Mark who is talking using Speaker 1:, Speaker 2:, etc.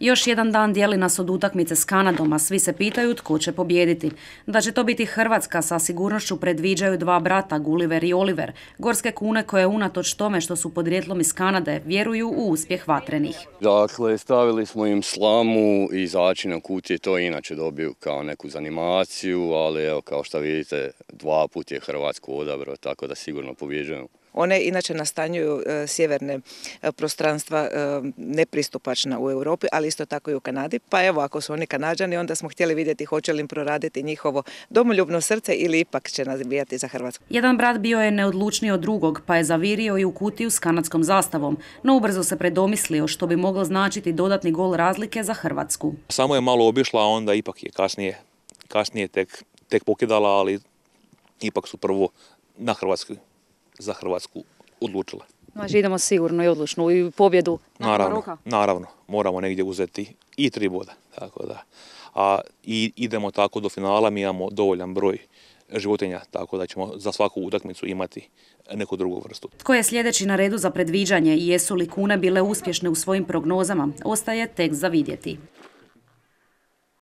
Speaker 1: Još jedan dan dijeli nas od utakmice s Kanadom, a svi se pitaju tko će pobijediti. Da će to biti Hrvatska sa sigurnošću predviđaju dva brata, Gulliver i Oliver, gorske kune koje unatoč tome što su podrijetlom iz Kanade vjeruju u uspjeh vatrenih.
Speaker 2: Dakle, stavili smo im slamu i začine kutije, to inače dobiju kao neku zanimaciju, ali evo kao što vidite 2 puta je Hrvatsku odabrao, tako da sigurno pobjeđujemo.
Speaker 3: One inače nastanjuju sjeverne prostranstva nepristupačna u Europi, ali isto tako i u Kanadi. Pa evo, ako su oni Kanađani, onda smo htjeli vidjeti hoće li im proraditi njihovo domoljubno srce ili ipak će navijati za Hrvatsku.
Speaker 1: Jedan brat bio je neodlučniji od drugog, pa je zavirio i u kutiju s kanadskom zastavom, no ubrzo se predomislio što bi moglo značiti dodatni gol razlike za Hrvatsku.
Speaker 4: Samo je malo obišla, a onda ipak je kasnije tek pokidala, ali ipak su prvo za Hrvatsku odlučile.
Speaker 5: Znači idemo sigurno i odlučno i pobjedu.
Speaker 4: Naravno, moramo negdje uzeti i 3 boda. Tako da. I idemo tako do finala, mi imamo dovoljan broj životinja, tako da ćemo za svaku utakmicu imati neku drugu vrstu.
Speaker 1: Tko je sljedeći na redu za predviđanje i jesu li kune bile uspješne u svojim prognozama, ostaje tek za vidjeti.